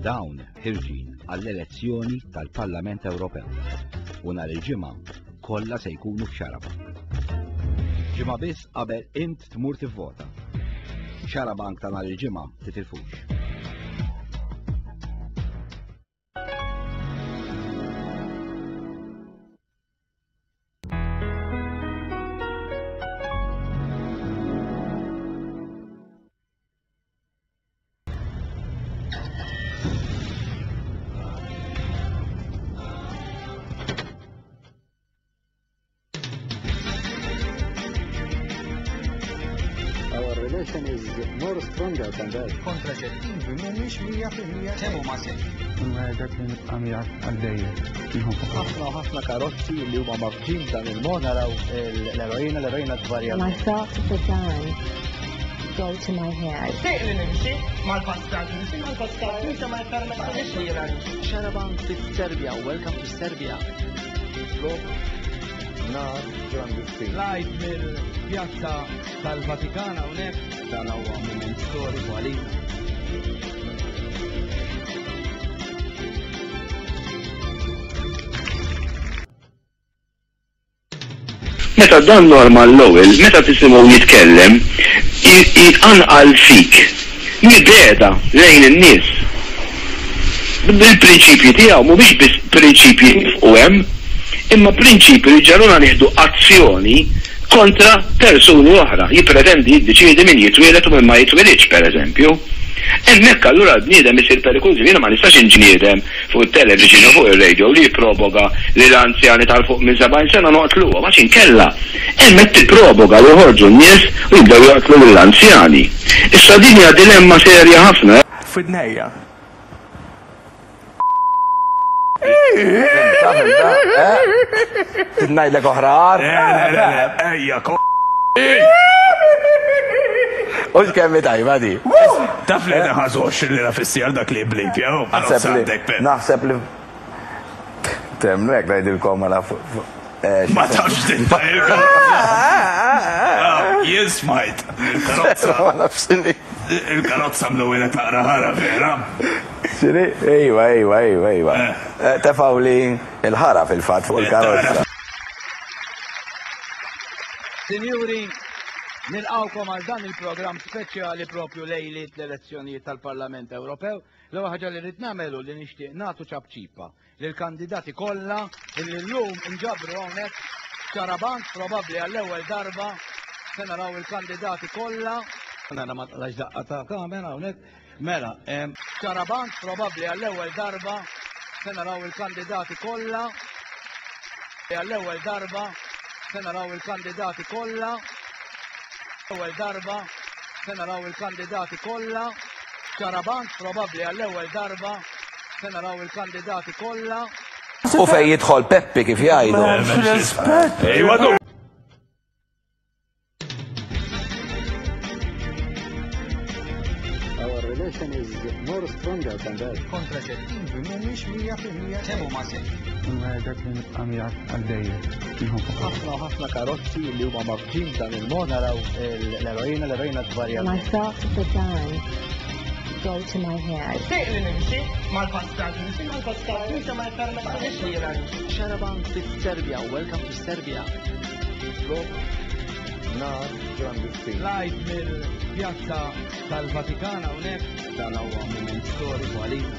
Dawn ħirġin għall-elezzjoni tal-Parlament Ewropew u nhar il-Ġimgħa kollha se jkunu f'Xarabank. Ġimgħa biss qabel int tmur tivvota. Xarabank ta' nhar il-Ġimgħa titilfux. Our relation is more stronger than that. Kontraċettivi mhumiex 100% kemm huma sejf. Nwegħdek li nibqa' miegħek għal dejjem. Ħafna u ħafna karozzi li huma mafġin dan il-mod naraw l-eroina, l-eroina tvarja. My thoughts began go to my head. Sejq li nimxi mal-passat, nimxi mal-passat, nimxi ma jpermettix li jiena nimxi. Xarabank fis-Serbja, welcome to Serbia. Flok nar klandestin. Live mill-pjazza tal-Vatikan hawnhekk dan huwa mument storiku għalina. Meta dan Norman Lowell, meta tisimgħu jitkellem, jqanqal fik mibegħda lejn in-nies. Il-prinċipji tiegħu mhumiex biss prinċipji jifqu hemm, imma prinċipji li jġegħluna nieħdu azzjoni kontra persuni oħra. Jippretendi jiddeċiedi min jitwieled u min ma jitwilidx, pereżempju. Hemmhekk allura l-bniedem isir perikoluż. Jiena ma nistax inġniedem fuq it-television u fuq ir-radio li jipproboga li l-anzjani ta' 'l fuq minn 70 sena noqtluhom għax inkella hemm qed tipproboga li joħorġu n-nies u jibdew joqtlu lill-anzjani. Issa din hija dilemma serja ħafna. F'widnejja. Fhimtha, fhimtha, eh? Trid ngħidlek oħra agħar? Le, le, le, le, ejja, ko. Hux kemm hi tajba di. Taf li qed inħallsu 20 lira fis-siegħa għal dak li jblip, jew? Naħseb li naħseb li temmnu jekk ngħidilkom mela Ma tafx titfa' il-karozza. Jien smajt il-karozza. Ma nafx x'inhi. Il-karozza mlewwela taqra ħara vera. X'inhi? Ejwa, ejwa, ejwa, ejwa. Tefgħuli l-ħara fil-fatt fuq il-karozza. Sinjuri, nilqgħukom għal dan il-programm speċjali propju lejliet l-elezzjonijiet tal-Parlament Ewropew. L-ewwel ħaġa li rrid nagħmel hu li nixtieq nagħtu ċapċipa lill-kandidati kollha illi llum inġabru hawnhekk f'Xarabank probabbli għall-ewwel darba se naraw il-kandidati kollha. Nara ma tqlax daqqa ta' kamera hawnhekk. Mela, Xarabank probabbli għall-ewwel darba se naraw il-kandidati kollha. Għall-ewwel darba se naraw il-kandidati kollha. Ewwel darba se naraw il-kandidati kollha. Xarabank probabbli għall-ewwel darba se naraw il-kandidati kollha. U fejn jidħol Peppi kif jgħidu. M'hemmx rispett. Our relation is more stronger than that. Kontraċettivi mhumiex 100% kemm huma sejf. Nwegħdek li nibqa' miegħek għal dejjem. Ħafna u ħafna karozzi li huma mafġin dan il-mod naraw l-eroina, l-eroina tvarja. My thoughts began go to my head. Sejq li nimxi mal-passat, nimxi mal-passat, nimxi ma jpermettix li jiena nimxi. Xarabank fis-Serbja, welcome to Serbia. Flok nar klandestin. Live mill-pjazza tal-Vatikan hawnhekk dan huwa mument storiku għalina.